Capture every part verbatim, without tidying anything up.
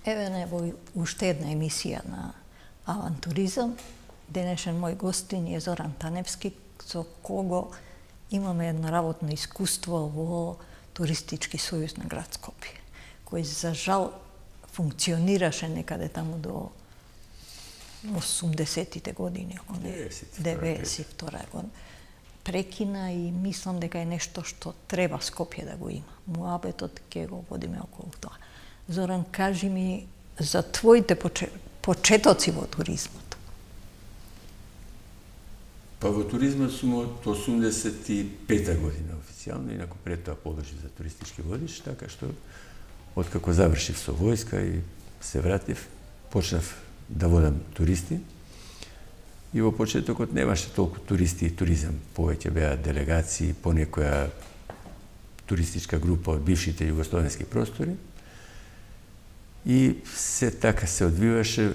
Еве не во уште една емисија на Авантуризам. Денешен мој гостин е Зоран Таневски, со кого имаме едно работно искуство во Туристички сојуз на град Скопје, кој за жал функционираше некаде таму до осумдесетите години, ако не деветдесет и втора година. Прекина и мислам дека е нешто што треба Скопје да го има. Муабетот ќе го водиме околу тоа. Зоран, кажи ми за твоите почетоци во туризмот. Па во туризмот сум од осумдесет и пета година официјално, инаку пред тоа положи за туристички водич, така што откако завршив со војска и се вратив, почнав да водам туристи. И во почетокот немаше толку туристи и туризам, повеќе беа делегации, по некоја туристичка група од бившите југословенски простори. И се така се одвиваше,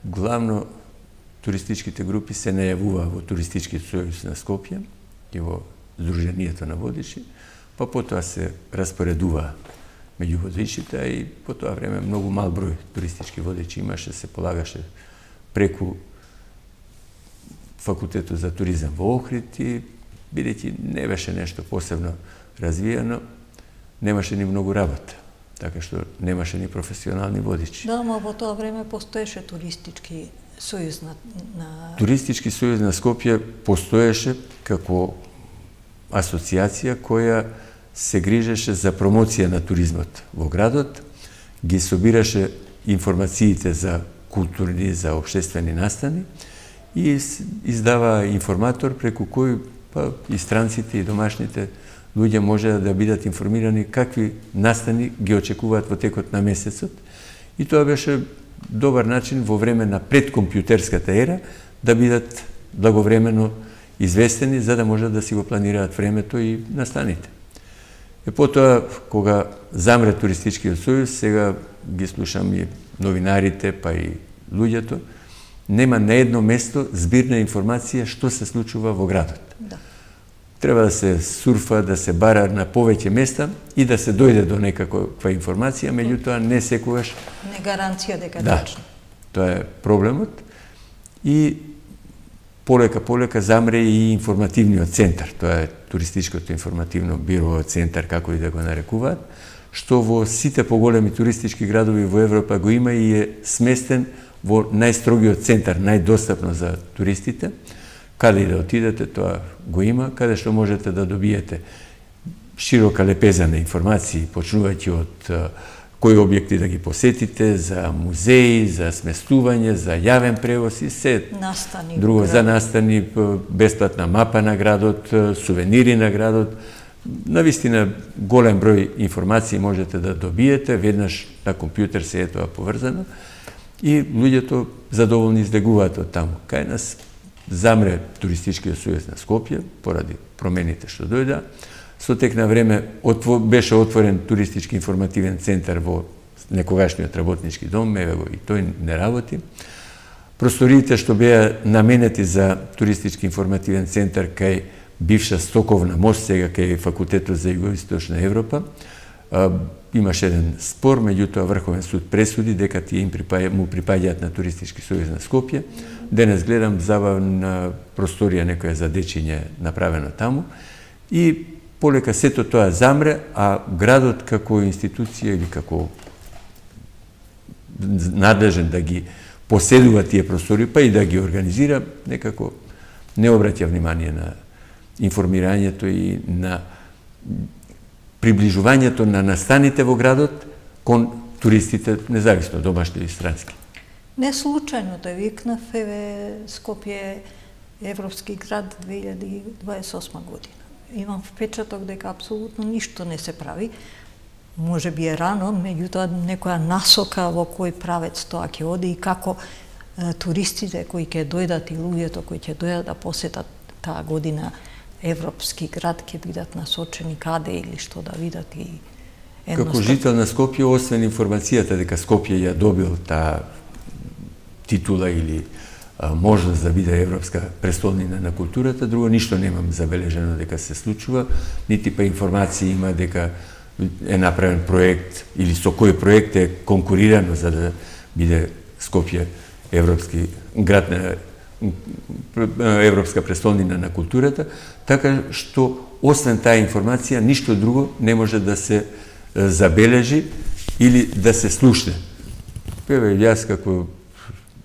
главно туристичките групи се најавуваа во Туристички сојуз на Скопје и во Сдруженијето на водичи, па потоа се распоредуваа меѓу водичите, и по тоа време многу мал број туристички водичи имаше, се полагаше преку факултетот за туризам во Охрид и, бидејќи не беше нешто посебно развиено, немаше ни многу работа, така што немаше ни професионални водичи. Да, но во тоа време постоеше Туристички сојуз на, на... Туристички сојуз на Скопје постоеше како асоциација која се грижеше за промоција на туризмот во градот, ги собираше информациите за културни, за општествени настани и издава информатор преку кој па, и странците и домашните луѓе може да бидат информирани какви настани ги очекуваат во текот на месецот. И тоа беше добар начин во време на предкомпјутерската ера да бидат благовремено известени за да можат да си го планираат времето и настаните. И потоа, кога замре Туристичкиот сојуз, сега ги слушам и новинарите, па и луѓето, нема на едно место збирна информација што се случува во градот. Да. Треба да се сурфа, да се бара на повеќе места и да се дојде до некаква информација, меѓутоа не секогаш... Не гаранција дека да, точно. Тоа е проблемот. И полека-полека замре и информативниот центар. Тоа е Туристичкото информативно биро центар, како и да го нарекуваат, што во сите поголеми туристички градови во Европа го има и е сместен во најстрогиот центар, најдостапно за туристите. Каде и да отидете, тоа го има, каде што можете да добиете широка лепеза на информации, почнувајќи од кои објекти да ги посетите, за музеи, за сместување, за јавен превоз и се настани, друго за настани, бесплатна мапа на градот, сувенири на градот. Навистина голем број информации можете да добиете, веднаш на компјутер се е тоа поврзано и луѓето задоволни излегуваат од таму. Кај нас замре Туристичкиот сојуз на Скопје поради промените што дојда. Со тек на време отво, беше отворен Туристички информативен центар во некогашниот работнички дом, еве го и тој не работи. Просториите што беа наменети за Туристички информативен центар кај бивша стоковна мост, сега кај Факултетот за Југоисточна Европа, а, имаше еден спор, меѓутоа Врховен суд пресуди дека тие им припаја, му припаѓаат на Туристички сојуз на Скопје. Денес гледам забавна просторија некоја за дечиње направена таму и полека сето тоа замре, а градот како институција или како надлежен да ги поседува тие простори, па и да ги организира, некако не обраќа внимание на информирањето и на приближувањето на настаните во градот кон туристите, независно домашни и странски. Не случајно да викнав, еве Скопје европски град две илјади дваесет и осма година. Имам впечаток дека апсолутно ништо не се прави. Може би е рано, меѓутоа некоја насока во кој правец тоа ќе оди и како е, туристите кои ќе дојдат и луѓето кои ќе дојдат да посетат таа година европски град ќе бидат насочени каде или што да видат и едноставно. Како жител на Скопје, освен информацијата дека Скопје ја добил таа титула или можност да биде европска престолнина на културата, друго ништо немам забележено дека се случува, нити па информации има дека е направен проект или со кој проект е конкурирано за да биде Скопје европски град на европска престолнина на културата, така што освен таа информација ништо друго не може да се забележи или да се слушне. Еве јас како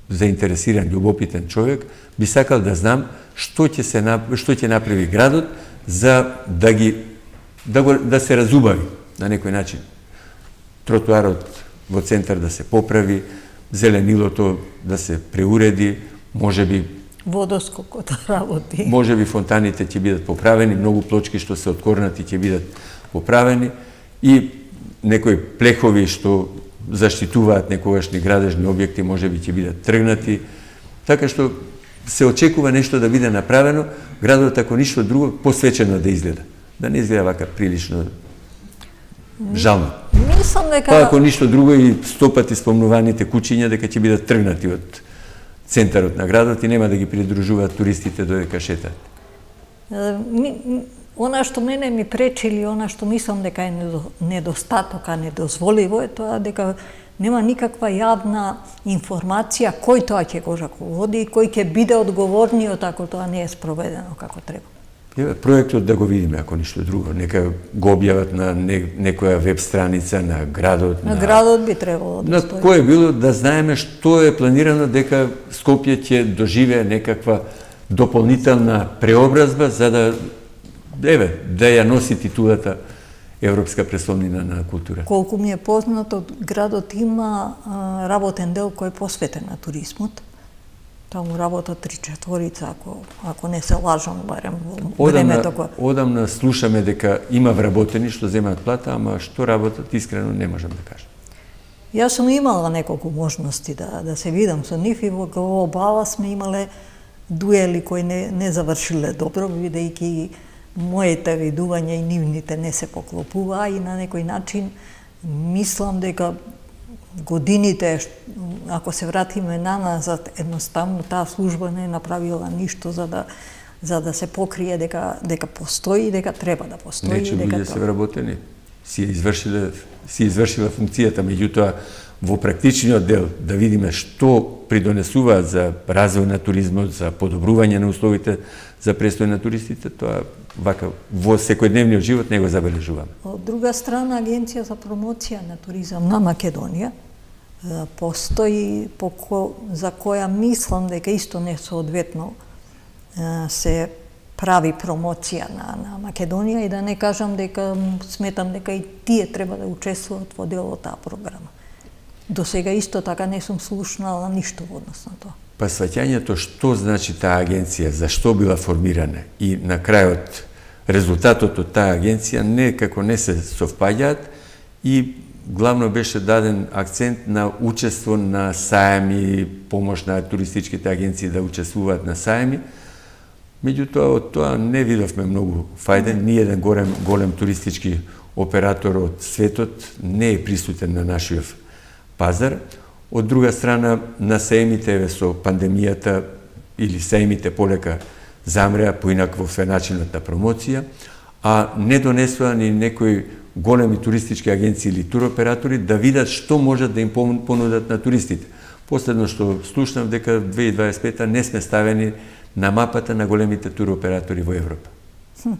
заинтересиран, љубопитен човек би сакал да знам што ќе се што ќе направи градот за да ги да го да се разубави на некој начин. Тротоарот во центар да се поправи, зеленилото да се преуреди, можеби водоскокот да работи. Можеби фонтаните ќе бидат поправени, многу плочки што се откорнати ќе бидат поправени и некои плехови што заштитуваат некогашни градежни објекти можеби ќе бидат тргнати. Така што се очекува нешто да биде направено, градот ако ништо друго посвечено да изгледа. Да не изгледа вака прилично жално. Мислам дека Па ако ништо друго и сто пати спомнуваните куќиња дека ќе бидат тргнати од центарот на градот и нема да ги придружуваат туристите додека шетаат. Она што мене ми пречи или она што мислам дека е недостаток, а недозволиво е тоа дека нема никаква јавна информација кој тоа ќе го раководи и кој ќе биде одговорниот ако тоа не е спроведено како треба. Проектот да го видиме, ако ништо друго. Нека го објават на не, некоја веб страница на градот. На, на градот би требало да на стои. Кој е било да знаеме што е планирано дека Скопје ќе доживее некаква дополнителна преобразба за да еве да ја носи титулата Европска престолнина на култура. Колку ми е познато, градот има а, работен дел кој е посветен на туризмот. Таму работа три четворица, ако, ако не се лажам, барем во времето кога. Одамна слушаме дека има вработени што земаат плата, ама што работат, искрено не можам да кажам. Јас сум имала неколку можности да, да се видам со нив и во глобала сме имале дуели кои не, не завршиле добро, бидејќи моите видувања и нивните не се поклопуваа и на некој начин мислам дека годините, ако се вратиме наназад, едноставно таа служба не е направила ништо за да за да се покрие дека дека постои, дека треба да постои, Нече дека луѓе се вработени, си извршиле си извршила функцијата, меѓутоа во практичниот дел да видиме што придонесуваат за развој на туризмот, за подобрување на условите за престој на туристите, тоа вака во секојдневниот живот не го забележуваме. Од друга страна, Агенција за промоција на туризам на Македонија постои по ко, за која мислам дека исто несоодветно се прави промоција на, на Македонија и да не кажам дека сметам дека и тие треба да учествуваат во дел од таа програма. До сега исто така не сум слушнала ништо во однос на тоа. Па сваќањето што значи таа агенција, зашто била формирана и на крајот резултатот од таа агенција некако не се совпаѓаат и главно беше даден акцент на учество на сајми, помош на туристичките агенции да учествуваат на сајми. Меѓутоа, од тоа не видовме многу фајден. Ни еден голем, голем туристички оператор од светот не е присутен на нашиот пазар. Од друга страна, на сајмите со пандемијата или сајмите полека замреа поинакво во начинот на промоција, а не донесоа ни некои големи туристички агенции или туроператори да видат што можат да им понудат на туристите. Последно што слушнав дека две илјади дваесет и пета не сме ставени на мапата на големите туроператори во Европа. Хм.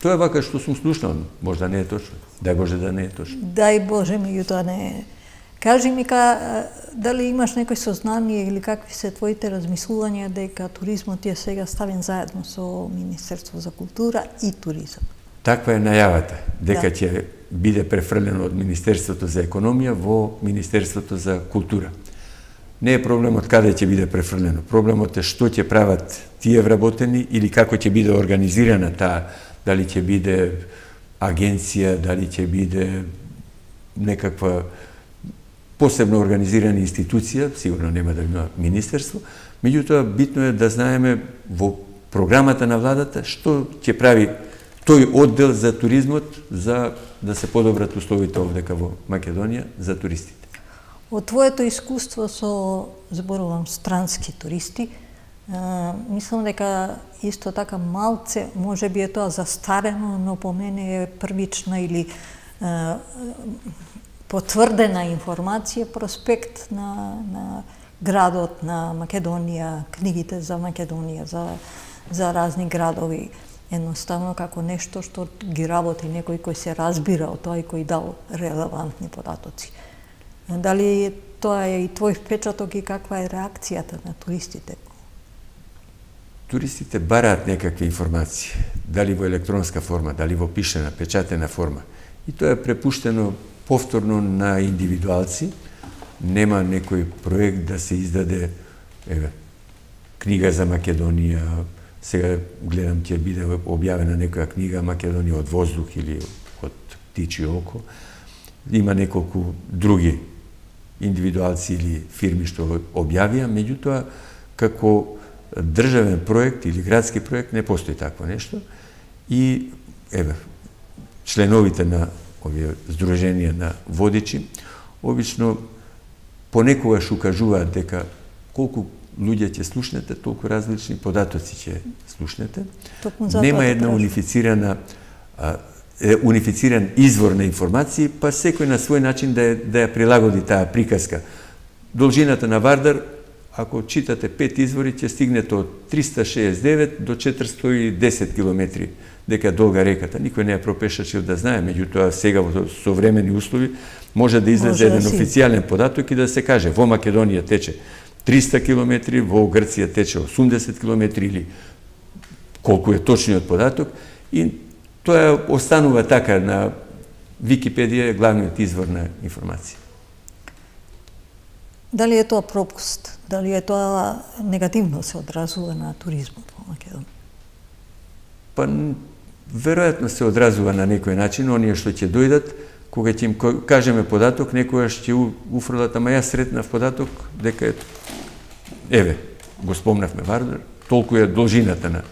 Тоа е вака што сум слушнал, можда не е точно. Дај Боже да не е точно. Дај Боже, меѓутоа не е. Кажи ми, ка, дали имаш некој сознание или какви се твоите размислувања дека туризмот е сега ставен заедно со Министерство за култура и туризам? Таква е најавата, дека да. ќе биде префрлено од Министерството за економија во Министерството за култура. Не е проблемот каде ќе биде префрлено, проблемот е што ќе прават тие вработени или како ќе биде организирана таа, дали ќе биде агенција, дали ќе биде некаква посебно организирана институција, сигурно нема да има министерство, меѓутоа битно е да знаеме во програмата на владата што ќе прави тој оддел за туризмот за да се подобрат условите овдека во Македонија за туристите. Од твоето искуство со, зборувам, странски туристи, Мислам дека исто така малце, може би е тоа застарено, но по мене е првична или а, потврдена информација, проспект на, на градот на Македонија, книгите за Македонија, за, за разни градови. Едноставно како нешто што ги работи некој кој се разбира од тоа и кој дал релевантни податоци. Дали тоа е и твој впечаток и каква е реакцијата на туристите? Туристите бараат некакви информации, дали во електронска форма, дали во пишена, печатена форма. И тоа е препуштено повторно на индивидуалци. Нема некој проект да се издаде, еве, книга за Македонија. Сега гледам ќе биде објавена некоја книга Македонија од воздух или од птичје око. Има неколку други индивидуалци или фирми што објавија, меѓутоа како државен проект или градски проект не постои такво нешто. И еве, членовите на овие здруженија на водичи обично понекогаш укажуваат дека колку луѓе ќе слушнете, толку различни податоци ќе слушнете. Нема една унифицирана а, е, унифициран извор на информации, па секој на свој начин да, е, да ја прилагоди таа приказка. Должината на Вардар, ако читате пет извори, ќе стигнете од триста шеесет девет до четиристо и десет километри, дека е долга реката. Никој не ја пропешачил да знае, меѓутоа сега во современи услови може да излезе еден официјален податок и да се каже во Македонија тече триста километри, во Грција тече осумдесет километри или колку е точниот податок, и тоа останува така на Википедија, главниот извор на информација. Дали е тоа пропуст? Дали е тоа негативно се одразува на туризмот во Македонија? Па, веројатно се одразува на некој начин. Оние што ќе дојдат, кога ќе им кажеме податок, некојаш ќе уфрлат, ама јас сретнав податок дека е, еве, го спомнавме Вардар, толку е должината на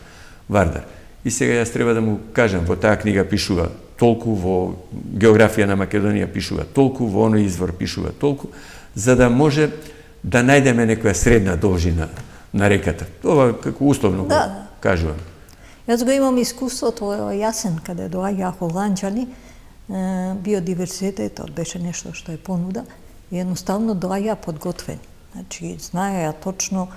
Вардар. И сега јас треба да му кажам, во таа книга пишува толку, во географија на Македонија пишува толку, во оној извор пишува толку, за да може да најдеме некоја средна должина на реката. Ова како условно да, го кажувам. Јас го имам искуството во Јасен, каде доаѓаа холанџани, биодиверзитетот беше нешто што е понуда и едноставно доаѓаа подготвени. Значи, знаеа точно,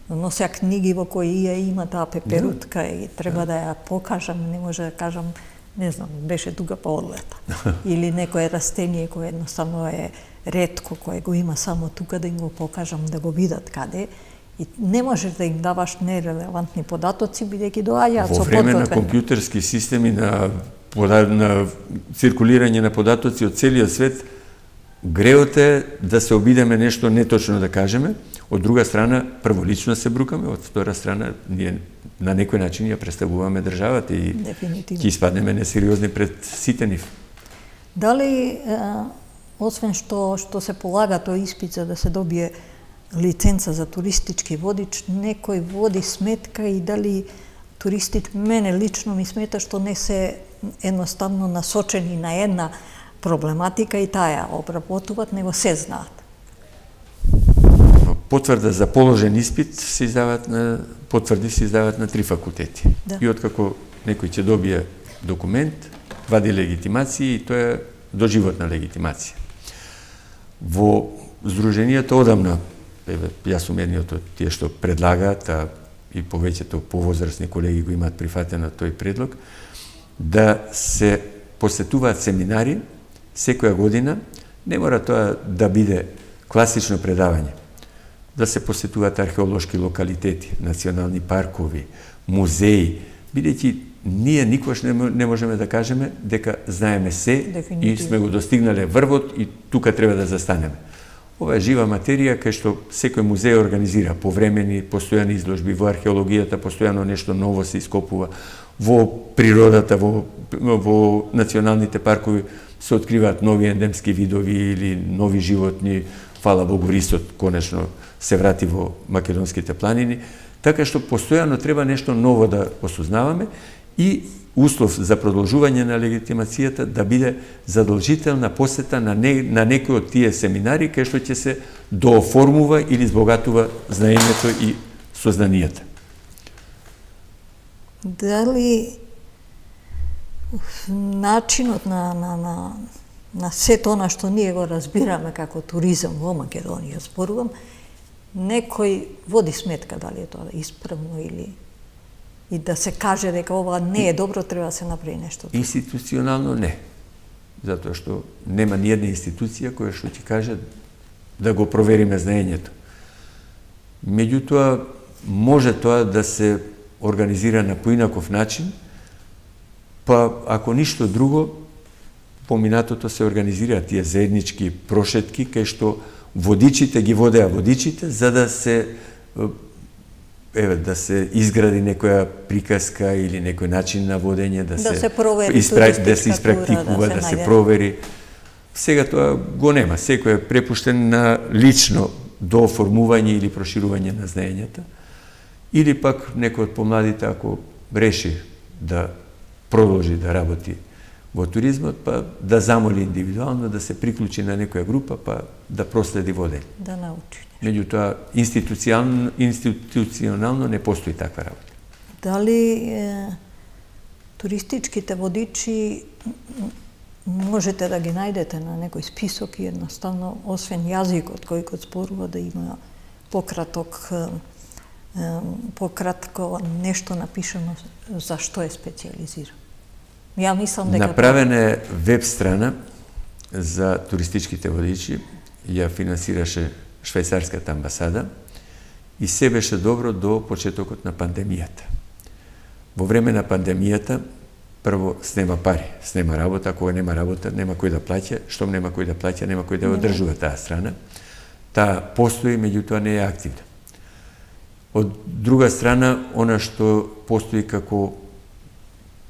носеа книги во кои ја има таа пеперутка да. И треба да ја покажам, не може да кажам, не знам, беше тука по одлета. Или некое растение кое едноставно е ретко, кое го има само тука, да им го покажам, да го видат каде. И не можеш да им даваш нерелевантни податоци, бидејќи доаѓаат со подготвени. Во време на компјутерски системи, на, на циркулирање на податоци од целиот свет, греот е да се обидеме нешто неточно да кажеме. Од друга страна, прво лично се брукаме, од втора страна, ние на некој начин ја представуваме државата и ќе испаднеме несериозни пред сите нив. Дали, освен што, што се полага тој испит за да се добие лиценца за туристички водич, некој води сметка и дали туристите, мене лично ми смета што не се едноставно насочени на една проблематика и таа ја обработуваат, него се знаат. Потврда за положен испит се издаваат на потврди се издаваат на три факултети. Да. И откако некој ќе добие документ, вади легитимација и тоа е доживотна легитимација. Во здруженијата одамна, еве, јас сум едниот од тие што предлагаат, а и повеќето повозрастни колеги го имаат прифатено тој предлог, да се посетуваат семинари секоја година, не мора тоа да биде класично предавање, да се посетуваат археолошки локалитети, национални паркови, музеи, бидејќи ние никош не, не можеме да кажеме дека знаеме се Дефинитивно. И сме го достигнале врвот и тука треба да застанеме. Ова е жива материја кај што секој музеј организира повремени, постојани изложби, во археологијата постојано нешто ново се ископува, во природата, во, во националните паркови се откриваат нови ендемски видови или нови животни. Фала Богу, рисот конечно се врати во македонските планини, така што постојано треба нешто ново да осознаваме и услов за продолжување на легитимацијата да биде задолжителна посета на, не, на некој од тие семинари кај што ќе се дооформува или збогатува знаењето и сознанијата. Дали начинот на, на, на, на сето она што ние го разбираме како туризам во Македонија, зборувам, некој води сметка дали е тоа исправно или и да се каже дека ова не е добро, треба да се направи нешто друго? Институционално не. Затоа што нема ни една институција која што ти каже да го провериме знаењето. Меѓутоа, може тоа да се организира на поинаков начин, па ако ништо друго, поминатото се организира тие заеднички прошетки, кај што водичите ги водеа водичите, за да се еве да се изгради некоја приказка или некој начин на водење, да, да се, се провери, испра... да се испрактикува, да, да се провери. Сега тоа го нема. Секој е препуштен на лично до оформување или проширување на знаењата. Или пак некој од помладите, ако реши да продолжи да работи во туризмот, па да замоли индивидуално да се приклучи на некоја група, па да проследи водење. Да научи. Меѓутоа, институционално, институционално не постои таква работа. Дали е, туристичките водичи можете да ги најдете на некој список и едноставно, освен јазикот кој го зборува, да има пократок, пократко нешто напишано за што е специализиран? Ја мислам дека направена е веб страна за туристичките водичи, ја финансираше швајцарската амбасада и се беше добро до почетокот на пандемијата. Во време на пандемијата прво снема пари, снема работа, кога нема работа, нема кој да плаќа, штом нема кој да плаќа, нема кој да одржува таа страна. Таа постои, меѓутоа не е активна. Од друга страна, она што постои како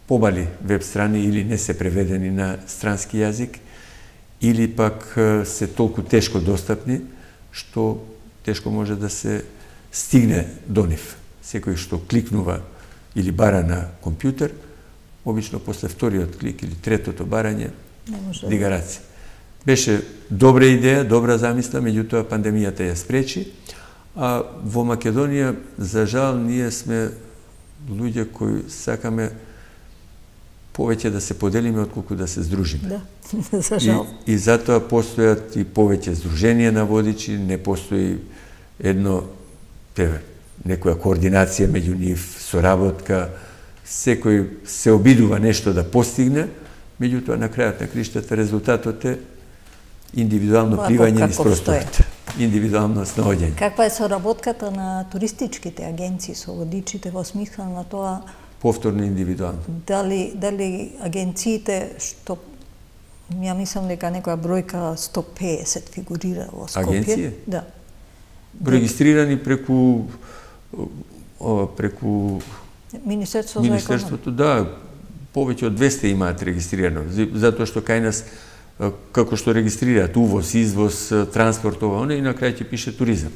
помали веб страни или не се преведени на странски јазик, или пак се толку тешко достапни, што тешко може да се стигне до нив. Секој што кликнува или бара на компјутер, обично после вториот клик или третото барање, дига раце. Беше добра идеја, добра замисла, меѓутоа пандемијата ја спречи, а во Македонија, за жал, ние сме луѓе кои сакаме повеќе да се поделиме отколку да се здружиме. Да, за жал. И, и затоа постојат и повеќе здруженија на водичи, не постои едно, еве, некоја координација меѓу нив, соработка, секој се обидува нешто да постигне, меѓутоа на крајот на криштата резултатот е индивидуално пливање низ просторот. Индивидуално снаоѓање. Каква е соработката на туристичките агенции со водичите во смисла на тоа повторно индивидуално? Дали дали агенциите што ја мислам дека некоја бројка сто пеесет фигурира во Скопје. Агенција? Да. Регистрирани преку ова преку Министерство Министерството, да, повеќе од двесте имаат регистрирано, затоа што кај нас како што регистрираат увоз, извоз, транспорт, ова, она и на крај ќе пише туризам.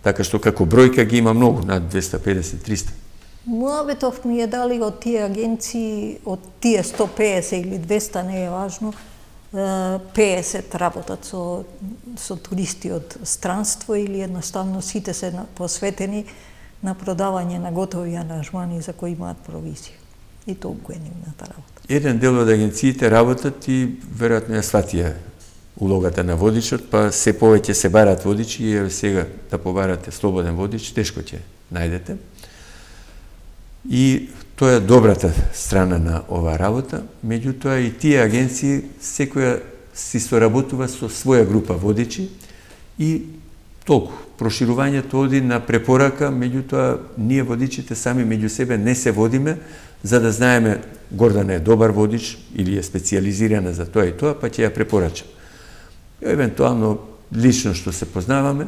Така што како бројка ги има многу, над двесте педесет до триста. Муабетов ми е дали од тие агенции, од тие сто пеесет или двесте, не е важно, пеесет работат со, со туристи од странство или едноставно сите се посветени на продавање на готови аранжмани за кои имаат провизија. И толку е нивната работа. Еден дел од агенциите работат и веројатно ја сватија улогата на водичот, па се повеќе се барат водичи и сега да побарате слободен водич, тешко ќе најдете. И тоа е добрата страна на оваа работа, меѓутоа и тие агенции секоја си соработува со своја група водичи и толку. Проширувањето оди на препорака, меѓутоа ние водичите сами меѓу себе не се водиме, за да знаеме Гордана е добар водич или е специализирана за тоа и тоа, па ќе ја препорачам. Евентуално лично што се познаваме,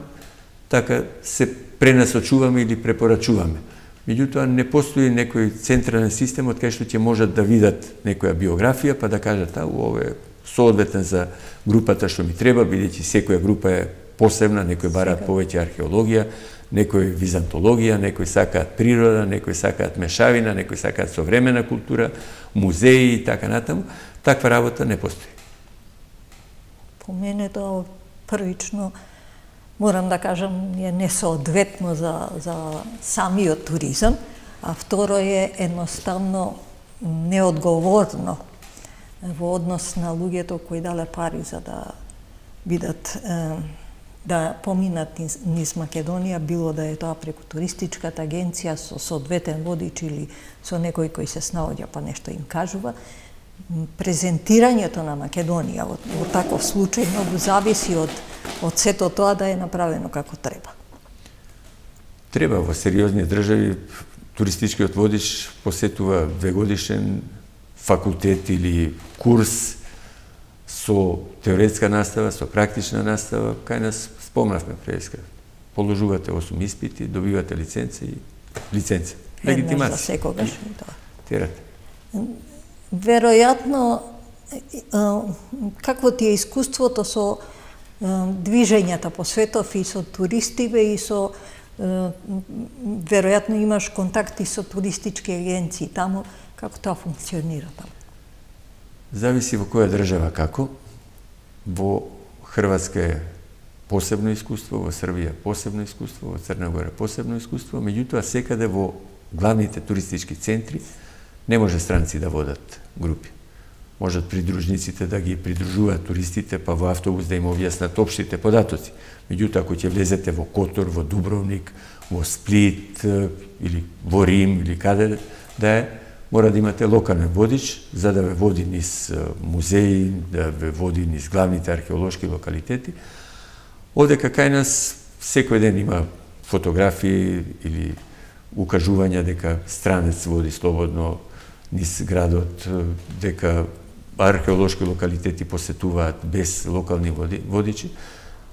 така се пренасочуваме или препорачуваме. Меѓутоа не постои некој централен систем од кај што ќе можат да видат некоја биографија, па да кажат, а, ово е соодветен за групата што ми треба, бидејќи секоја група е посебна, некои бараат повеќе археологија, некои византологија, некои сакаат природа, некои сакаат мешавина, некои сакаат современа култура, музеи и така натаму. Таква работа не постои. По мене тоа првично морам да кажам, е несоодветно за, за самиот туризам, а второ е едноставно неодговорно во однос на луѓето кои дале пари за да бидат да поминат низ, низ Македонија, било да е тоа преку туристичката агенција со соодветен водич или со некој кој се снаоѓа па нешто им кажува. Презентирањето на Македонија во, во таков случај многу зависи од од сето тоа да е направено како треба. Треба во сериозни држави туристичкиот водич посетува двегодишен факултет или курс со теоретска настава, со практична настава. Кај нас спомнавме преска. Положувате осум испити, добивате лиценца и лиценца. Легитимација. За секогаш и тоа. Терате. Веројатно, какво ти е искуството со движењата по светов и со туристиве и со веројатно имаш контакти со туристички агенции таму, како тоа функционира таму? Зависи во која држава како. Во Хрватска е посебно искуство, во Србија посебно искуство, во Црна Гора посебно искуство, меѓутоа секаде во главните туристички центри не може странци да водат групи. Можат придружниците да ги придружуваат туристите, па во автобус да им објаснат општите податоци. Меѓутоа, ако ќе влезете во Котор, во Дубровник, во Сплит или во Рим или каде да е, мора да имате локален водич за да ве води низ музеи, да ве води низ главните археолошки локалитети. Овдека кај нас секој ден има фотографии или укажувања дека странец води слободно низ градот, дека археолошки локалитети посетуваат без локални водичи.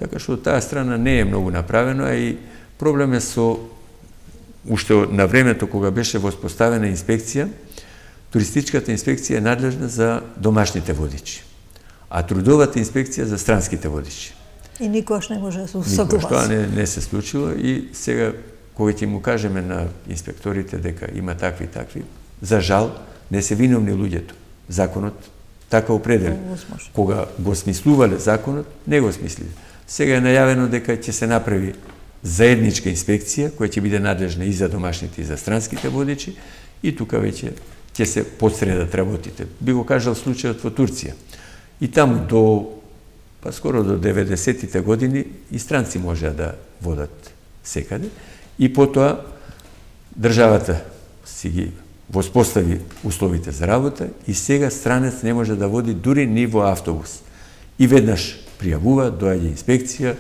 Така што од таа страна не е многу направено, а и проблем е со уште на времето кога беше воспоставена инспекција, туристичката инспекција е надлежна за домашните водичи, а трудовата инспекција за странските водичи. И никош не може да се усогласи. Никош тоа не, не се случило и сега кога ќе му кажеме на инспекторите дека има такви и такви, за жал не се виновни луѓето. Законот така определи. Кога го смислувале законот, не го смислиле. Сега е најавено дека ќе се направи заедничка инспекција која ќе биде надлежна и за домашните и за странските водичи и тука веќе ќе се подсредат работите. Би го кажал случајот во Турција. И таму до па скоро до деветдесетите години и странци можеа да водат секаде и потоа државата си ги воспостави условите за работа и сега странец не може да води дури ни во автобус. И веднаш пријавува, доаѓа инспекција,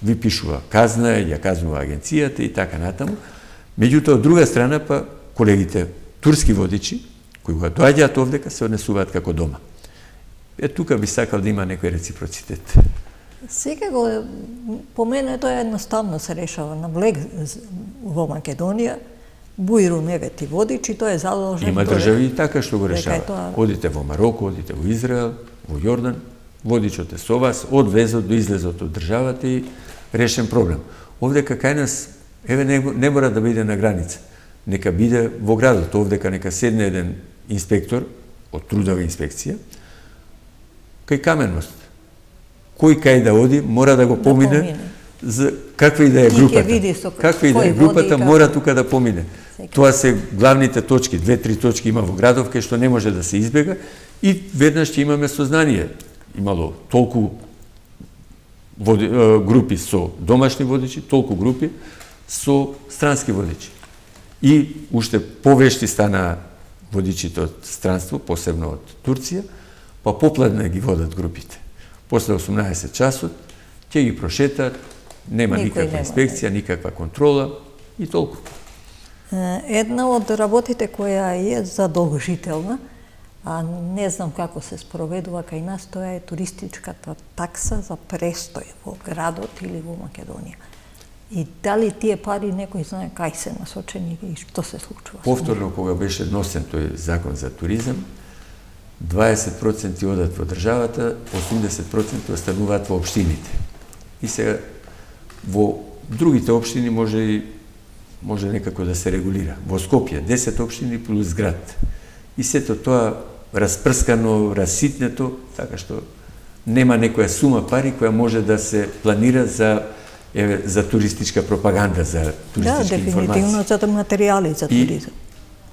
ви пишува казна, ја казнува агенцијата и така натаму. Меѓутоа, од друга страна, па колегите турски водичи, кои го доаѓаат овдека, се однесуваат како дома. Е, тука би сакал да има некој реципроцитет. Сега го, по мене тоа едноставно се решава на Блег во Македонија, Бујру не вети водичи, тоа е задолжен. Има држави и така што го решава. Тоа... Одите во Мароко, одите во Израел, во Јордан, водичот е со вас, од влезот до излезот од државата и решен проблем. Овдека кај нас, еве не, не мора да биде на граница. Нека биде во градот, овдека нека седне еден инспектор од трудова инспекција, кај Каменост. Кој кај да оди, мора да го помине, да помине. За каква и да е групата. Со... Каква и да е групата, мора тука да помине. Секи. Тоа се главните точки, две-три точки има во градов, кај што не може да се избега и веднаш ќе имаме сознание. Имало толку води, групи со домашни водичи, толку групи со странски водичи. И уште повешти стана водичите од странство, посебно од Турција, па попладне ги водат групите. После осумнаесет часот ќе ги прошетат, нема Никој никаква нема, инспекција, никаква контрола и толку. Една од работите која е задолжителна, а не знам како се спроведува кај нас, тоа е туристичката такса за престој во градот или во Македонија. И дали тие пари некој знае кај се насочени и што се случува? Повторно, кога беше носен тој закон за туризам, дваесет проценти одат во државата, осумдесет проценти остануваат во општините. И сега во другите општини може и може некако да се регулира. Во Скопје десет општини плюс град. И сето тоа распрскано, раситнето, така што нема некоја сума пари која може да се планира за еве за туристичка пропаганда, за туристички да, информации. Да, дефинитивно за материјали за туризам.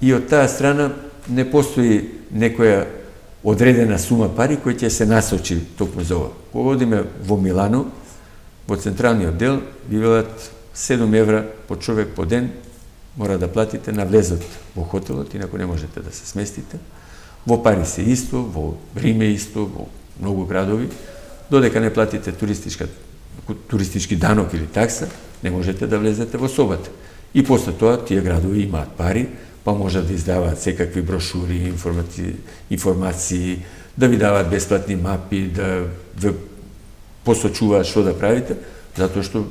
И, и од таа страна не постои некоја одредена сума пари која ќе се насочи токму за ова. Кога одиме во Милано, во централниот дел, ви велат седум евра по човек по ден, мора да платите на влезот во хотелот, инаку не можете да се сместите. Во Париз е исто, во Рим е исто, во многу градови. Додека не платите туристичка, туристички данок или такса, не можете да влезете во собата. И после тоа тие градови имаат пари, па можат да издаваат секакви брошури, информации, информации, да ви даваат бесплатни мапи, да ве посочуваат што да правите, затоа што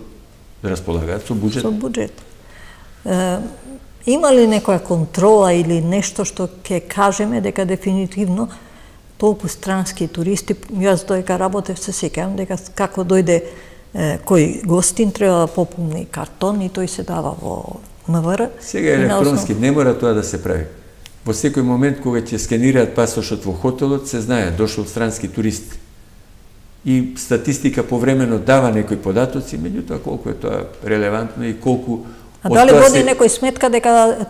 располагаат со буџет. Со буџет. Е, има ли некоја контрола или нешто што ќе кажеме дека дефинитивно толку странски туристи, јас доека работев се сеќавам дека како дојде е, кој гостин треба да пополни картон и тој се дава во МВР. Сега електронски не мора тоа да се прави. Во секој момент кога ќе скенираат пасошот во хотелот, се знае дошол странски турист. И статистика повремено дава некои податоци, меѓутоа колку е тоа релевантно и колку А дали води се... некој сметка дека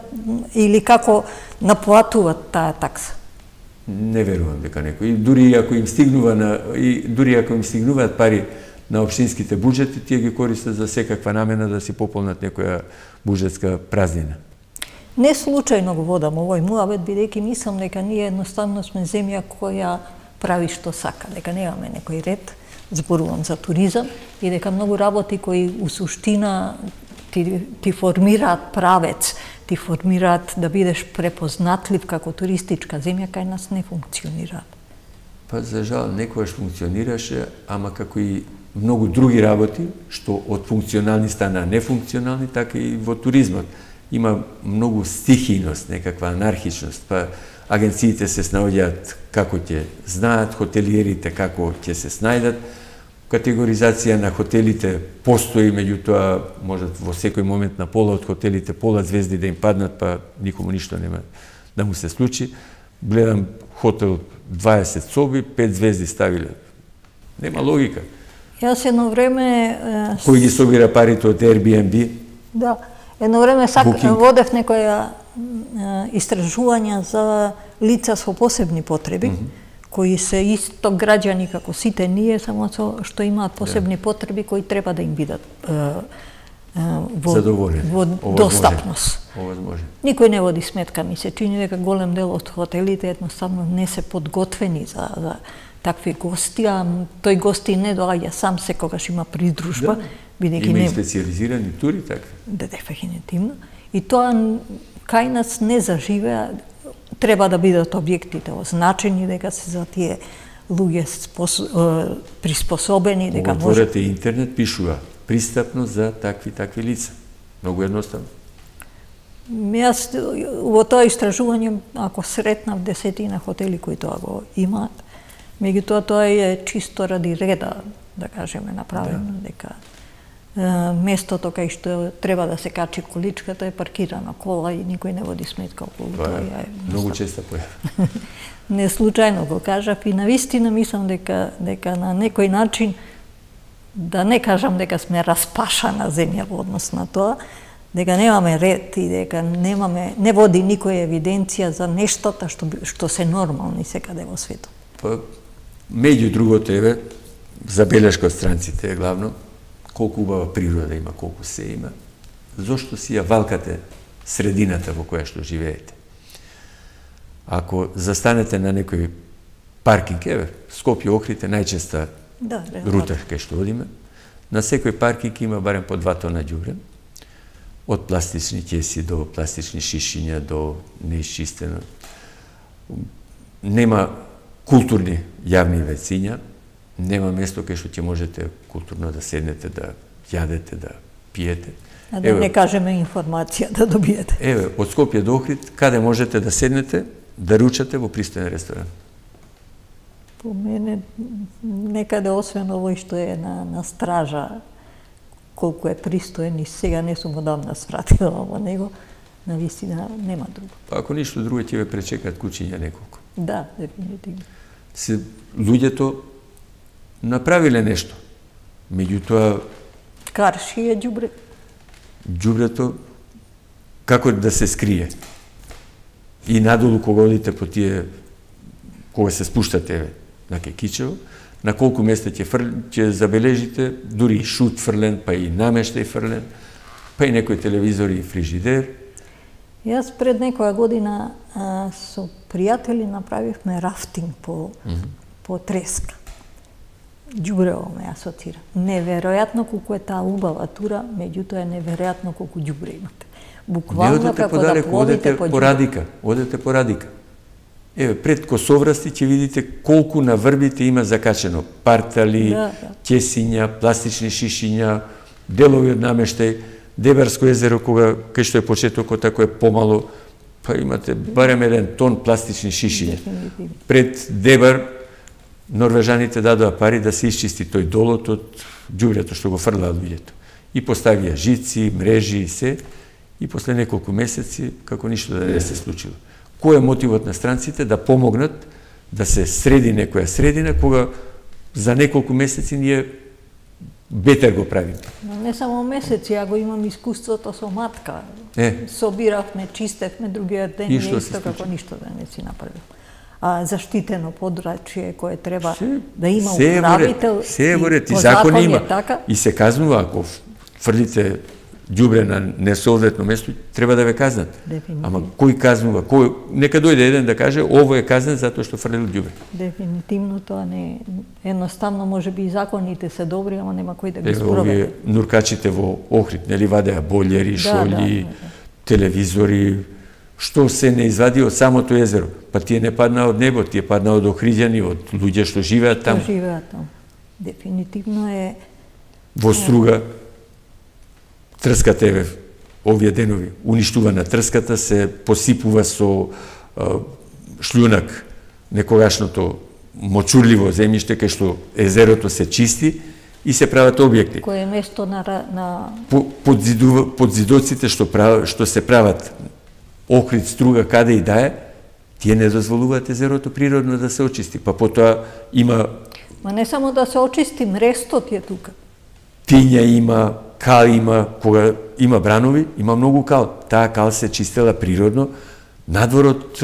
или како наплатуваат таа такса? Не верувам дека некој. И дури ако им стигнува на и дури ако им стигнуваат пари на општинските буџети, тие ги користат за секаква намена да си пополнат некоја буџетска празнина. Не случајно го водам овој муавет, бидејќи мислам дека ние едноставно сме земја која прави што сака, дека немаме некој ред, зборувам за туризам, и дека многу работи кои у суштина ти, ти формираат правец, ти формираат да бидеш препознатлив како туристичка земја, кај нас не функционираат. Па за жал некојаш функционираше, ама како и многу други работи, што од функционални стана нефункционални, така и во туризмот. Има многу стихијност, некаква анархичност, па агенциите се снаоѓаат како ќе знаат, хотелиерите како ќе се снајдат. Категоризација на хотелите постои, меѓутоа можат во секој момент на пола од хотелите пола звезди да им паднат, па никому ништо нема да му се случи. Гледам хотел дваесет соби, пет звезди ставиле. Нема логика. Јас едно време... Кој ги собира парите од Airbnb? Да, едно време сак водев некоја истражувања за лица со посебни потреби, mm -hmm. кои се исто граѓани како сите ние, само што имаат посебни yeah. потреби кои треба да им бидат е, е, во, во достапност. Овозможен. Никој не води сметка, ми се чини дека голем дел од хотелите едноставно не се подготвени за, за такви гости, а тој гости не доаѓа сам, секогаш има придружба. Да. Има и специализирани тури, така? Да, дефинитивно. И тоа кај нас не заживеа. Треба да бидат објектите означени, дека се за тие луѓе спос... приспособени, дека може... Отворете интернет, пишува пристапно за такви такви лица. Многу едноставно. Јас во тоа истражување, ако сретнав десетина хотели кои тоа го имаат, меѓутоа тоа е чисто ради реда, да кажеме, направено, да. дека местото кај што треба да се качи количката е паркирана кола и никој не води сметка околу тоа. Тоа е многу често појава. Не случајно го кажав и навистина мислам дека дека на некој начин, да не кажам дека сме распашана земја во однос на тоа, дека немаме ред и дека немаме не води никоја евиденција за нештата што што се нормални секаде во светот. Па меѓу другото еве забелешка од странците е главно колку убава природа има, колку се има, зошто си ја валкате средината во која што живеете. Ако застанете на некој паркинг, еве, Скопје, Охрид е најчеста да, рута кај што одиме, на секој паркинг има барем по два тона ѓубре, од пластични ќеси до пластични шишиња, до неисчистено. Нема културни јавни вециња, нема место кај што ќе можете културно да седнете, да јадете, да пиете. А да еве, не кажеме информација да добиете. Еве, од Скопје до Охрид, каде можете да седнете, да ручате во пристоен ресторан? По мене, некаде освен овој што е на, на стража, колку е пристоен и сега не сум одамна свратила во него, навистина нема друго. Па ако ништо друго ќе ве пречекат кучиња неколку. Да, дефинитивно. Се луѓето направиле нешто. Меѓутоа, Карши е ѓубре. Ѓубрето како да се скрие. И надолу кога одите по тие, кога се спуштате на Кекичево, на колку места ќе фр... ќе забележите, дури и шут фрлен, па и намештај фрлен, па и некој телевизор и фрижидер. Јас пред некоја година а, со пријатели направивме рафтинг по, mm -hmm. по Треска. Ѓубрево ме асоцира. Неверојатно колку е таа убава тура, меѓутоа е неверојатно колку ѓубре имате. Буквално како да пловите по ѓубре. По Радика, одете по Радика. Еве, пред Косоврасти ќе видите колку на врбите има закачено партали, да, да. Ќесиња, пластични шишиња, делови од намештај, Дебарско езеро, кога кај што е почетокот, ако е помало, па имате барем еден тон пластични шишиња. Пред Дебар, норвежаните дадоа пари да се исчисти тој долот од ѓубрето што го фрлаат луѓето. И поставија жици, мрежи и се, и после неколку месеци, како ништо да не се случило. Кој е мотивот на странците? Да помогнат да се среди некоја средина, кога за неколку месеци ние бетер го правиме. Но не само месеци, ја го имам искуството со матка. Е. Собиравме, чистевме, другиот ден и исто како ништо да не си направил. А заштитено подрачје кое треба се, да има управител. Се е во ред, и закон има. Така. И се казнува, ако фрлите ѓубре на несоодветно место, треба да ве казнат. Дефинитивно. Ама кој казнува? Кој... Нека дојде еден да каже, ово е казнен затоа што фрлил ѓубре. Дефинитивно тоа не е. Едноставно, може би и законите се добри, ама нема кој да ги спроведе. Овие нуркачите во Охрид, нели вадеа бољери, шолји, да, да, да. телевизори, што се не извади од самото езеро. Па тие не паднаа од небо, тие паднаа од охриѓани, од луѓе што живеат таму. Што живеат таму. Дефинитивно е... Во Струга, трската е овие денови. Уништувана трската се посипува со а, шлјунак некогашното мочурливо земјиште кај што езерото се чисти и се прават објекти. Кој е место на... на... По, под, зиду, под зидоците што, прав, што се прават Охрид, Струга, каде и да е, тие не дозволуваат езерото природно да се очисти. Па потоа има... Ма не само да се очисти, мрестот е тука. Тиња има, кал има, кога има бранови, има многу кал. Таа кал се чистела природно надвор од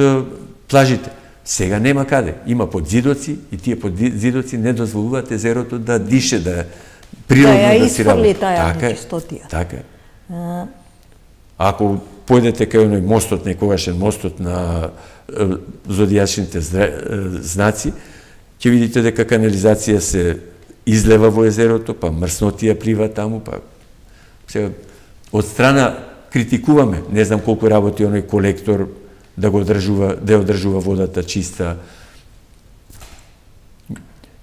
плажите. Сега нема каде. Има подзидоци и тие подзидоци не дозволуваат езерото да дише, да природно да, да си работи. Да ја исфрли таа нечистотија. Така. А... Ако појдете кај оној мостот, некогашен мостот на е, зодијачните знаци, ќе видите дека канализација се излева во езерото, па мрснотија плива таму, па сега од страна критикуваме, не знам колку работи оној колектор да го одржува, да ја одржува водата чиста.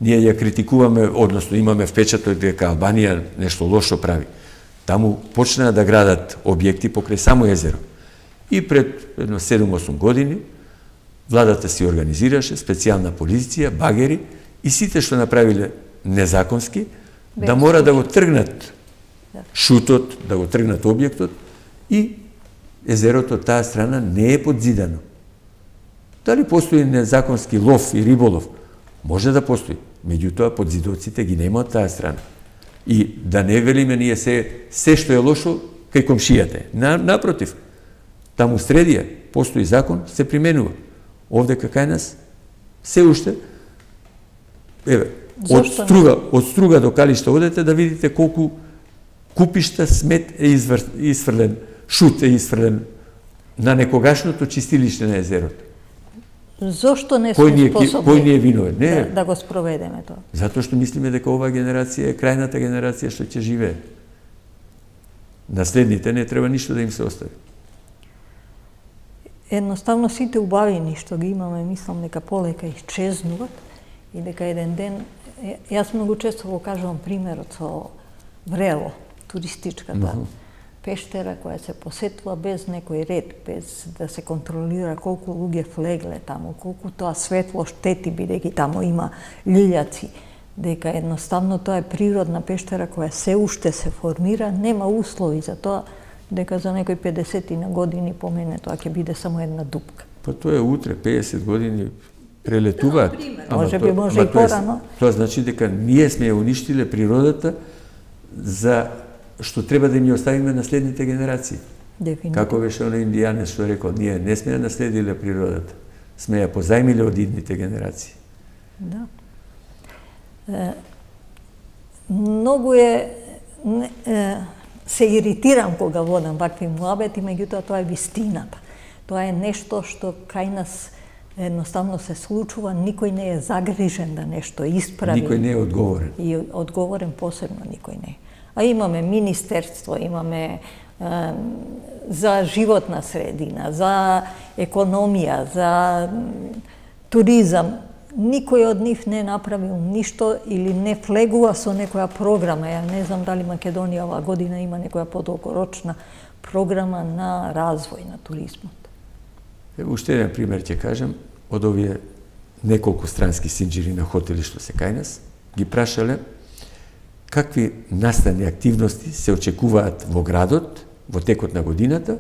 Ние ја критикуваме, односно имаме впечаток дека Албанија нешто лошо прави. Таму почнаа да градат објекти покрај само езеро. И пред едно седум-осум години владата си организираше специјална полиција, багери и сите што направиле незаконски, Бе, да мора да го тргнат шутот, да го тргнат објектот и езерото од таа страна не е подзидано. Дали постои незаконски лов и риболов? Може да постои. Меѓутоа, подзидоците ги нема од таа страна. И да не велиме ние се, се што е лошо кај комшијата. На, напротив, таму средија постои закон, се применува. Овде кај нас се уште еве, од Струга, од Струга до Калишта одете да видите колку купишта смет е извр, изфрлен, шут е изфрлен на некогашното чистилиште на езерото. Зошто не сме кој способни кој ни е виновен? Не, да, да го спроведеме тоа? Затоа што мислиме дека оваа генерација е крајната генерација што ќе живее. Наследните не треба ништо да им се остави. Едноставно сите убавини што ги имаме, мислам дека полека исчезнуваат и дека еден ден, јас многу често го кажувам примерот со Врело, туристичката mm -hmm. пештера која се посетува без некој ред, без да се контролира колку луѓе влегле таму, колку тоа светло штети, бидејќи таму има лилјаци, дека едноставно тоа е природна пештера која се уште се формира, нема услови за тоа, дека за некои педесетина години по мене тоа ќе биде само една дупка. Па тоа е утре, педесет години прелетуваат. Може би може и порано. Тоа значи дека ние сме ја уништиле природата за што треба да ни оставиме на следните генерации. Дефинитивно. Како беше оној индијанец што рекол, ние не сме ја наследиле природата, сме ја позајмиле од идните генерации. Да. Е, многу е, е, се иритирам кога водам вакви муабети, меѓутоа тоа е вистината. Тоа е нешто што кај нас едноставно се случува, никој не е загрижен да нешто исправи. Никој не е одговорен. И одговорен посебно никој не е. А имаме министерство, имаме е, за животна средина, за економија, за туризам. Никој од нив не направил ништо или не влегува со некоја програма. Ја не знам дали Македонија оваа година има некоја подолгорочна програма на развој на туризмот. Уште еден пример ќе кажем, од овие неколку странски синџири на хотели што се кај нас, ги прашале какви настани активности се очекуваат во градот во текот на годината,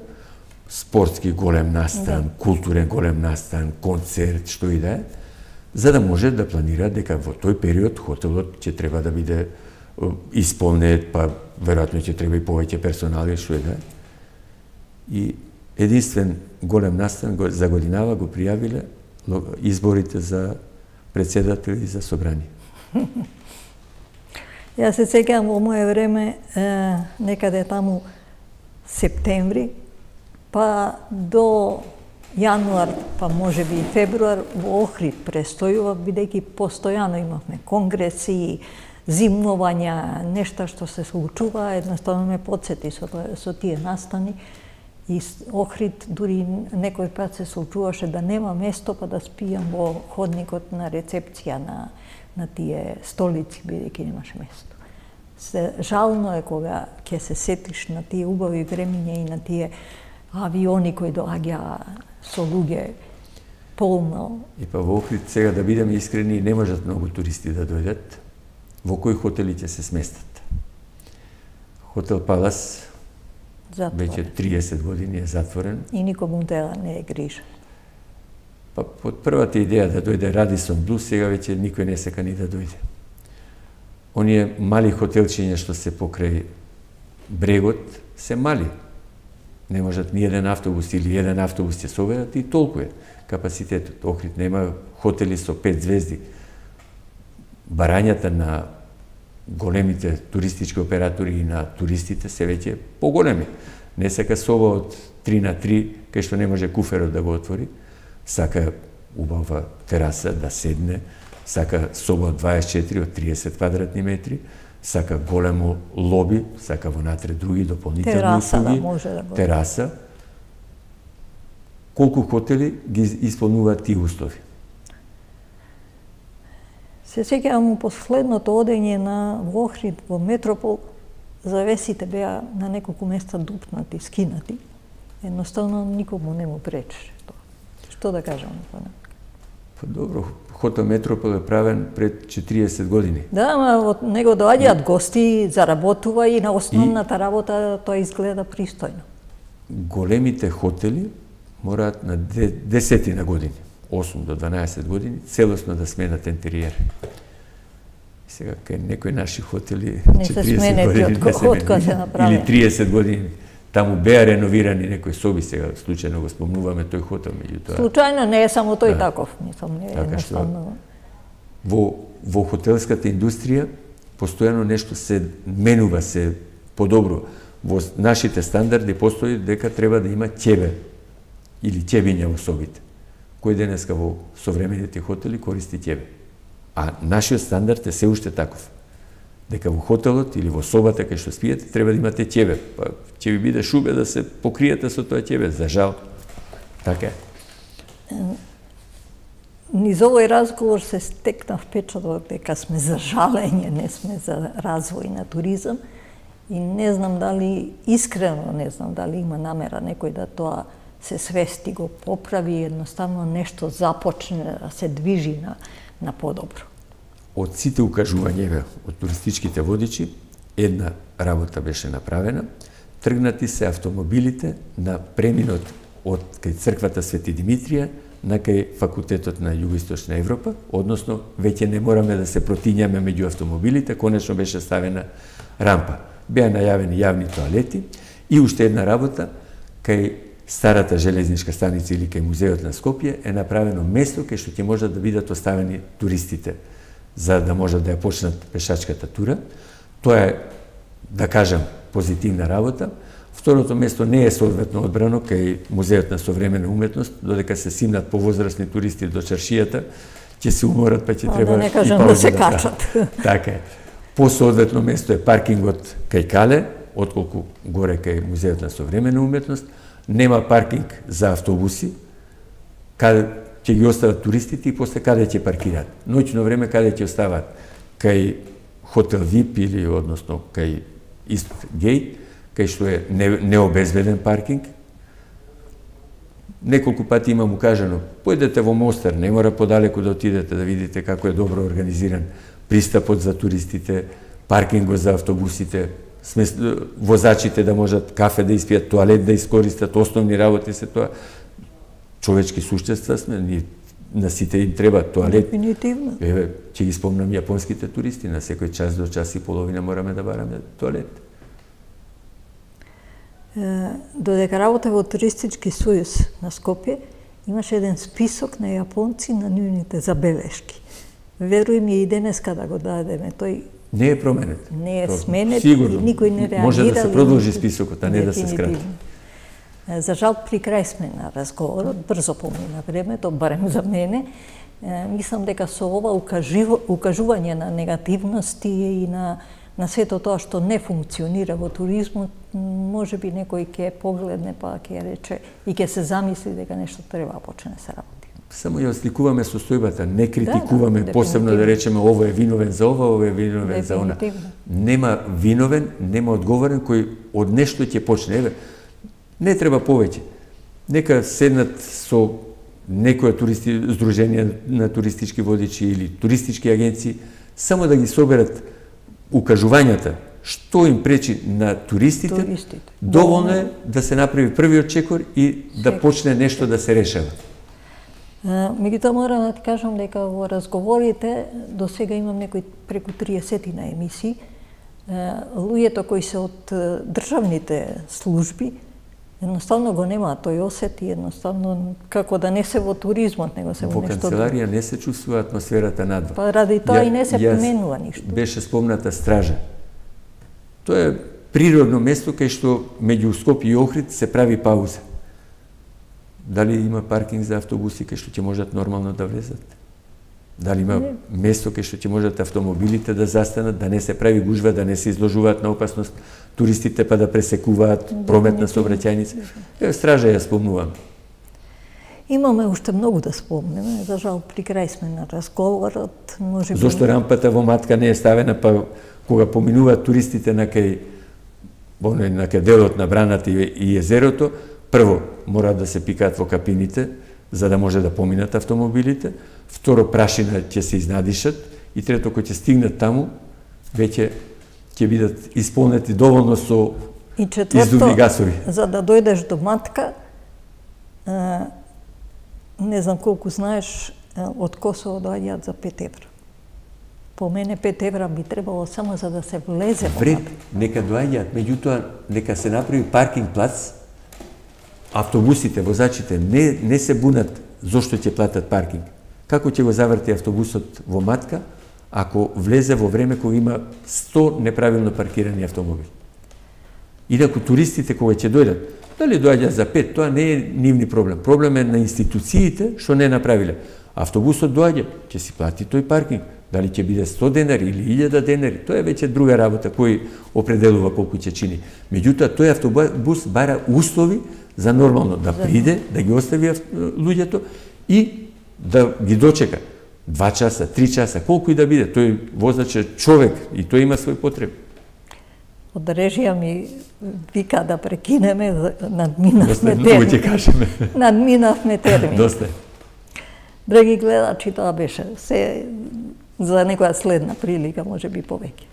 спортски голем настан, да. Културен голем настан, концерт, што и да е, за да може да планира дека во тој период хотелот ќе треба да биде исполнет, па веројатно ќе треба и повеќе персонали, што и да е. И единствен голем настан за годинава го пријавиле изборите за председател и за собрание. Јас се сеќавам во моје време, е, некаде таму септември, па до јануар, па може би и февруар, во Охрид престојува, бидејќи постојано имавме конгреси, зимнувања, нешта што се случува, едноставно ме подсети со, со тие настани. И Охрид дури некој пат се случуваше да нема место, па да спијам во ходникот на рецепција на, на тие столици, бидејќи немаше место. Се, жално е кога ќе се сетиш на тие убави времиња и на тие авиони кои доаѓа со луѓе полно. И па во Охрид, сега да бидеме искрени, не можат многу туристи да дојдат. Во кои хотели ќе се сместат? Хотел Палас затворен. Веќе триесет години е затворен. И никому тела не е грижа. Па под првата идеја да дојде Радисон Блу, сега веќе никој не сека ни да дојде. Оние мали хотелчиња што се покрај брегот се мали. Не можат ни еден автобус или еден автобус ќе соберат и толку е капацитетот. Охрид нема хотели со пет звезди. Барањата на големите туристички оператори и на туристите се веќе поголеми. Не сака соба од три на три, кај што не може куферот да го отвори, сака убава тераса да седне, сака соба од дваесет и четири, од триесет квадратни метри, сака големо лоби, сака вонатре други дополнителни тераса, услуги, да може да го... тераса. Колку хотели ги исполнуваат тие услови? Се сеќавам последното одење на во Охрид, во Метропол, завесите беа на неколку места дупнати, скинати. Едноставно никому не му пречеше тоа. Што да кажам на тоа? Па добро, хотел Метропол е правен пред четириесет години. Да, ама од него доаѓаат гости, заработува и на основната и... работа тоа изгледа пристојно. Големите хотели мораат на десетина години, осум до дванаесет години, целосно да сменат интериер. Сега, кај некои наши хотели четириесет години не се мене, или триесет години. Таму беа реновирани некои соби, сега случајно го спомнуваме тој хотел, меѓутоа. Случајно не е само тој да. Таков, мислам, не е така едноставно. Во, во хотелската индустрија постојано нешто се менува, се подобро. Во нашите стандарди постои дека треба да има ќебе или ќебиња во собите. Кој денеска во современите хотели користи ќебе. А нашиот стандард е се уште таков. Дека во хотелот или во собата кај што спиете треба да имате ќебе. Па ќе ви биде шубе да се покриете со тоа ќебе, за жал. Така е. Низ овој разговор се стекна впечаток дека сме за жалење, не сме за развој на туризам. И не знам дали, искрено не знам дали има намера некој да тоа се свести, го поправи, едноставно нешто започне да се движи на, на подобро. Од сите укажувања од туристичките водичи, една работа беше направена. Тргнати се автомобилите на преминот од кај црквата Свети Димитрија на кај факултетот на Југоисточна Европа, односно веќе не мораме да се протињаме меѓу автомобилите, конечно беше ставена рампа. беа најавени јавни тоалети и уште една работа, кај старата железничка станица или кај музеот на Скопје е направено место кај што ќе можат да бидат оставени туристите за да можат да ја почнат пешачката тура. Тоа е, да кажам, позитивна работа. Второто место не е соодветно одбрано кај музеот на современа уметност, додека се симнат повозрасни туристи до чаршијата, ќе се уморат, па ќе а, треба да не кажам и пауза да се да качат. Така е. Посоодветно место е паркингот кај Кале, отколку горе кај музеот на современа уметност. Нема паркинг за автобуси, каде ќе ги остават туристите и после каде ќе паркираат. Ноќно време каде ќе остават? Кај хотел вип или односно кај Ист Гейт, кај што е необезбеден паркинг. Неколку пати имам укажано, појдете во Мостар, не мора подалеку да отидете да видите како е добро организиран пристапот за туристите, паркингот за автобусите, возачите да можат кафе да испијат, тоалет да искористат, основни работи се тоа. Човечки суштества сме, ни на сите им треба тоалет. Дефинитивно. Еве, ќе ги спомнам јапонските туристи, на секој час до час и половина мораме да бараме тоалет. Додека работе во Туристички сојуз на Скопје, имаше еден список на јапонци на нивните забелешки. Веруј ми и денеска да го дадеме, тој не е променет. Не е сменет Сигурно. и никој не реагира. Може да се продолжи списокот, а не да се скрати. За жал, при крај сме на разговорот, брзо помина времето, барем за мене. Мислам дека со ова укажување на негативности и на на сето тоа што не функционира во туризмот, може би некој ќе погледне па ќе рече и ќе се замисли дека нешто треба да почне да се работи. Само ја осликуваме состојбата, не критикуваме, да, да, посебно да речеме ово е виновен за ова, ово е виновен за она. Нема виновен, нема одговорен кој од нешто ќе почне. Еве, не треба повеќе. Нека седнат со некоја туристи, здруженија на туристички водичи или туристички агенции, само да ги соберат укажувањата што им пречи на туристите, туристите. Доволно е да се направи првиот чекор и да Чек. почне нешто да се решава. Меѓутоа морам да ти кажам дека во разговорите до сега имам некои преку триесет на емисии. Луѓето кои се од државните служби едноставно го немаат тој осет и едноставно како да не се во туризмот, него се во, во нешто. Во канцеларија не се чувствува атмосферата надвор. Па ради тоа ја, и не се поменува ништо. Беше спомната стража. Тоа е природно место кај што меѓу Скопје и Охрид се прави пауза. Дали има паркинг за автобуси кај што ќе можат нормално да влезат? Дали има не. место кај што ќе можат автомобилите да застанат, да не се прави гужва, да не се изложуваат на опасност туристите па да пресекуваат прометна сообраќајница? Е, стража ја спомнувам. Имаме уште многу да спомнеме, за жал при крај сме на разговорот, може би. Зошто рампата во Матка не е ставена, па кога поминуваат туристите на кај на кај делот на браната и езерото, прво мора да се пикаат во капините за да може да поминат автомобилите, второ прашина ќе се изнадишат и трето кој ќе стигнат таму веќе ќе бидат исполнети доволно со и четврто, издувни гасови. За да дојдеш до Матка, не знам колку знаеш, од Косово доаѓаат за пет евра. По мене пет евра би требало само за да се влезе во Матка. Нека доаѓаат, меѓутоа нека се направи паркинг плац. Автобусите, возачите не, не се бунат зошто ќе платат паркинг. Како ќе го заврти автобусот во Матка, ако влезе во време кога има сто неправилно паркирани автомобили? Инаку туристите кога ќе дојдат, дали доаѓаат за пет, тоа не е нивни проблем. Проблем е на институциите што не направиле. Автобусот доаѓа, ќе си плати тој паркинг. Дали ќе биде сто денари или илјада денари, тоа е веќе друга работа кој определува колку ќе чини. Меѓутоа, тој автобус бара услови за нормално да приде, да ги остави луѓето и да ги дочека. Два часа, три часа, колку и да биде. Тој возач е човек и тој има свој потреби. Од режија ми вика да прекинеме, надминавме термин. Доста, ќе кажеме. Надминавме термин. Доста. Драги гледачи, тоа беше се за некоја следна прилика, може би повеќе.